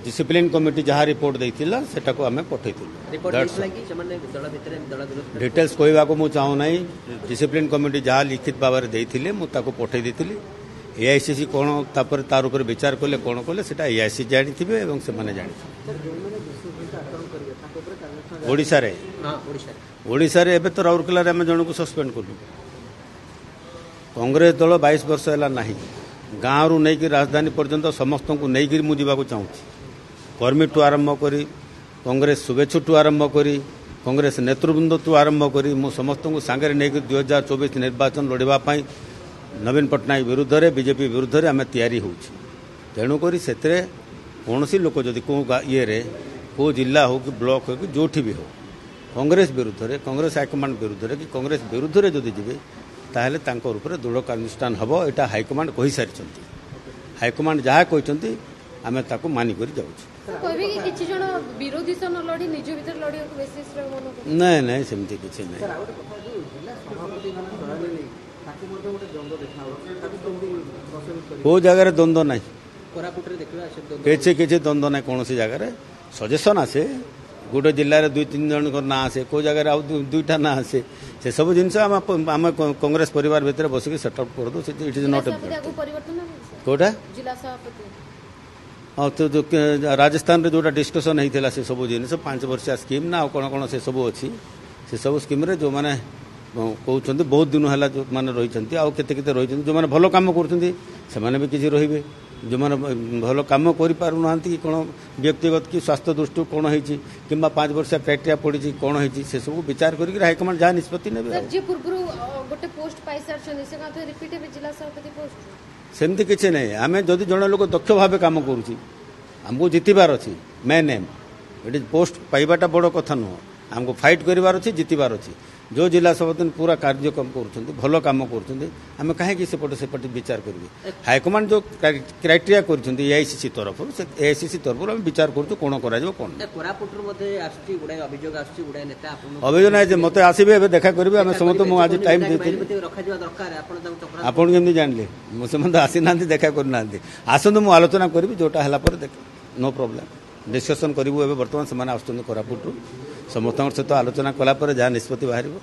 Discipline committee ଯାହା report ଦେଇଥିଲା ସେଟାକୁ ଆମେ ପଠେଇଥିଲୁ। ରିପୋର୍ଟ ଦେଇଥିଲା କି ସେମାନେ ଦଳ ଭିତରେ ଦଳ ବିରୋଧ? ଡିଟେଲ୍ସ କହିବାକୁ ମୁଁ ଚାହୁଁନାହିଁ। ଡିସିପ୍ଲିନ୍ କମିଟି ଯାହା ଲିଖିତ ଭାବରେ ଦେଇଥିଲେ, ମୁଁ ତାକୁ ପଠେଇ ଦେଇଥିଲି। ଏଆଇସିସି କ'ଣ ତାପରେ ତାର ଉପରେ ବିଚାର କଲେ, କ'ଣ କଲେ, ସେଟା ଏଆଇସି ଜାଣିଥିବେ ଏବଂ ସେମାନେ ଜାଣିଥିବେ। ସାର୍, ଯେଉଁମାନେ ବିଶୃଙ୍ଖଳିତ ଆଚରଣ କରିବେ ତାଙ୍କ ଉପରେ କାର୍ଯ୍ୟାନୁଷ୍ଠାନ? ଓଡ଼ିଶାରେ? ହଁ, ଓଡ଼ିଶାରେ। ଓଡ଼ିଶାରେ ଏବେ ତ ରାଉରକେଲାରେ ଆମେ ଜଣକୁ ସସ୍ପେଣ୍ଡ କଲୁ। କଂଗ୍ରେସ ଦଳ 22 ବର୍ଷ ହେଲା ନାହିଁ। ଗାଁରୁ ନେଇକି ରାଜଧାନୀ ପର୍ଯ୍ୟନ୍ତ ସମସ୍ତଙ୍କୁ ନେଇକିରି ମୁଁ ଯିବାକୁ ଚାହୁଁଛି। କର୍ମୀଠୁ ଆରମ୍ଭ କରି, କଂଗ୍ରେସ ଶୁଭେଚ୍ଛୁଠୁ ଆରମ୍ଭ କରି, କଂଗ୍ରେସ ନେତୃବୃନ୍ଦଠୁ ଆରମ୍ଭ କରି ମୁଁ ସମସ୍ତଙ୍କୁ ସାଙ୍ଗରେ ନେଇକି 2024 ନିର୍ବାଚନ ଲଢ଼ିବା ପାଇଁ ନବୀନ ପଟ୍ଟନାୟକ ବିରୁଦ୍ଧରେ, ବିଜେପି ବିରୁଦ୍ଧରେ ଆମେ ତିଆରି ହେଉଛୁ। ତେଣୁକରି ସେଥିରେ କୌଣସି ଲୋକ ଯଦି କେଉଁ ଇଏରେ, କେଉଁ ଜିଲ୍ଲା ହେଉ କି ବ୍ଲକ ହେଉ କି ଯେଉଁଠି ବି ହେଉ, କଂଗ୍ରେସ ବିରୁଦ୍ଧରେ, କଂଗ୍ରେସ ହାଇକମାଣ୍ଡ ବିରୁଦ୍ଧରେ କି କଂଗ୍ରେସ ବିରୁଦ୍ଧରେ ଯଦି ଯିବେ, ତାହେଲେ ତାଙ୍କ ଉପରେ ଦୃଢ଼ କାର୍ଯ୍ୟାନୁଷ୍ଠାନ ହେବ। ଏଇଟା ହାଇକମାଣ୍ଡ କହିସାରିଛନ୍ତି। ହାଇକମାଣ୍ଡ ଯାହା କହିଛନ୍ତି ଆମେ ତାକୁ ମାନିକରି ଯାଉଛୁ। କହିବେ କି କିଛି ଜଣ ବିରୋଧୀ ସହ ନ ଲଢି ନିଜ ଭିତରେ ଲଢିବାକୁ ବେଶୀ ଶ୍ରେୟ ମନେ କରୁଛନ୍ତି? ନାଇଁ ନାଇଁ, ସେମିତି କିଛି ନାହିଁ। ସାର୍, ଆଉ ଗୋଟେ କଥା, ଯେଉଁ ଜିଲ୍ଲା ସଭାପତି ମାନେ ଚୟନ ନେଇ ତାକୁ ମଧ୍ୟ ଗୋଟେ ଦ୍ୱନ୍ଦ୍ୱ ଦେଖାଯାଉଛି, ତାକୁ କେମିତି ପ୍ରଶମିତ କରିବେ? କେଉଁ ଜାଗାରେ ଦ୍ୱନ୍ଦ୍ୱ ନାହିଁ। କୋରାପୁଟରେ ଦେଖିବା ସେ ଦ୍ୱନ୍ଦ୍ୱ। କିଛି କିଛି ଦ୍ୱନ୍ଦ୍ୱ ନାହିଁ କୌଣସି ଜାଗାରେ। ସଜେସନ୍ ଆସେ, ଗୋଟେ ଜିଲ୍ଲାରେ ଦୁଇ ତିନି ଜଣଙ୍କ ନାଁ ଆସେ, କେଉଁ ଜାଗାରେ ଆଉ ଦୁଇଟା ନାଁ ଆସେ। ସେସବୁ ଜିନିଷ ଆମେ କଂଗ୍ରେସ ପରିବାର ଭିତରେ ବସିକି ସେଟଅପ୍ କରିଦେଉ। It is not. ଜିଲ୍ଲା ସଭାପତି ଆଗକୁ ପରିବର୍ତ୍ତନ ହେବ କି ସାର୍? କେଉଁଟା? ଜିଲ୍ଲା ସଭାପତି। ହଁ, ତ ଯୋଉ ରାଜସ୍ଥାନରେ ଯେଉଁଟା ଡିସ୍କସନ୍ ହେଇଥିଲା, ସେ ସବୁ ଜିନିଷ 5 ବର୍ଷିଆ ସ୍କିମ୍ ନା ଆଉ କ'ଣ କ'ଣ ସେସବୁ ଅଛି। ସେସବୁ ସ୍କିମ୍ରେ ଯେଉଁମାନେ କହୁଛନ୍ତି ବହୁତ ଦିନ ହେଲା ଯେଉଁମାନେ ରହିଛନ୍ତି, ଆଉ କେତେ କେତେ ରହିଛନ୍ତି, ଯେଉଁମାନେ ଭଲ କାମ କରୁଛନ୍ତି ସେମାନେ ବି କିଛି ରହିବେ। ଯେଉଁମାନେ ଭଲ କାମ କରିପାରୁନାହାନ୍ତି କି କ'ଣ ବ୍ୟକ୍ତିଗତ କି ସ୍ୱାସ୍ଥ୍ୟ ଦୃଷ୍ଟିରୁ କ'ଣ ହେଇଛି କିମ୍ବା 5 ବର୍ଷିଆ କ୍ରାଇଟେରିଆ ପଡ଼ିଛି କ'ଣ ହେଇଛି, ସେସବୁ ବିଚାର କରିକି ହାଇକମାଣ୍ଡ ଯାହା ନିଷ୍ପତ୍ତି ନେବେ। ସାର୍, ଆଉ ଯିଏ ପୂର୍ବରୁ ଗୋଟେ ପୋଷ୍ଟ ପାଇସାରିଛନ୍ତି ସେ କଣ ରିପିଟ୍ ହେବେ ଜିଲ୍ଲା ସଭାପତି ପୋଷ୍ଟ? ସେମିତି କିଛି ନାହିଁ। ଆମେ ଯଦି ଜଣେ ଲୋକ ଦକ୍ଷ ଭାବେ କାମ କରୁଛି, ଆମକୁ ଜିତିବାର ଅଛି। ମେନ୍ ଏମ୍ ଏଠି ପୋଷ୍ଟ ପାଇବାଟା ବଡ଼ କଥା ନୁହଁ। ଆମକୁ ଫାଇଟ୍ କରିବାର ଅଛି, ଜିତିବାର ଅଛି। ଯେଉଁ ଜିଲ୍ଲା ସଭାପତି ପୁରା କାର୍ଯ୍ୟକ୍ରମ କରୁଛନ୍ତି, ଭଲ କାମ କରୁଛନ୍ତି, ଆମେ କାହିଁକି ସେପଟେ ସେପଟେ ବିଚାର କରିବେ? ହାଇକମାଣ୍ଡ ଯେଉଁ କ୍ରାଇଟେରିଆ କରିଛନ୍ତି ଏଆଇସିସି ତରଫରୁ, ସେ ଏଆଇସିସି ତରଫରୁ ଆମେ ବିଚାର କରୁଛୁ କ'ଣ କରାଯିବ କ'ଣ ନାହିଁ। କୋରାପୁଟରୁ ମଧ୍ୟ ଆସୁଛି ଗୁଡ଼ାଏ ଅଭିଯୋଗ ଆସୁଛି, ଗୁଡ଼ାଏ ନେତା ଆପଣ ଅଭିଯୋଗ ନାହିଁ ଯେ ମୋତେ ଆସିବେ, ଏବେ ଦେଖା କରିବେ। ଆମେ ସମସ୍ତେ, ମୁଁ ଆଜି ଟାଇମ୍ ଦେଇଥିଲି। ରଖାଯିବା ଦରକାର, ଆପଣ ତାଙ୍କୁ ଚକ୍ରାନ୍ତ? ଆପଣ କେମିତି ଜାଣିଲେ? ମୁଁ ସେମାନେ ତ ଆସିନାହାନ୍ତି, ଦେଖା କରିନାହାନ୍ତି। ଆସନ୍ତୁ, ମୁଁ ଆଲୋଚନା କରିବି। ଯେଉଁଟା ହେଲା ପରେ ଦେଖ, ନୋ ପ୍ରୋବ୍ଲେମ୍, ଡିସ୍କସନ୍ କରିବୁ। ଏବେ ବର୍ତ୍ତମାନ ସେମାନେ ଆସୁଛନ୍ତି କୋରାପୁଟରୁ। ସମସ୍ତଙ୍କ ସହିତ ଆଲୋଚନା କଲା ପରେ ଯାହା ନିଷ୍ପତ୍ତି ବାହାରିବ।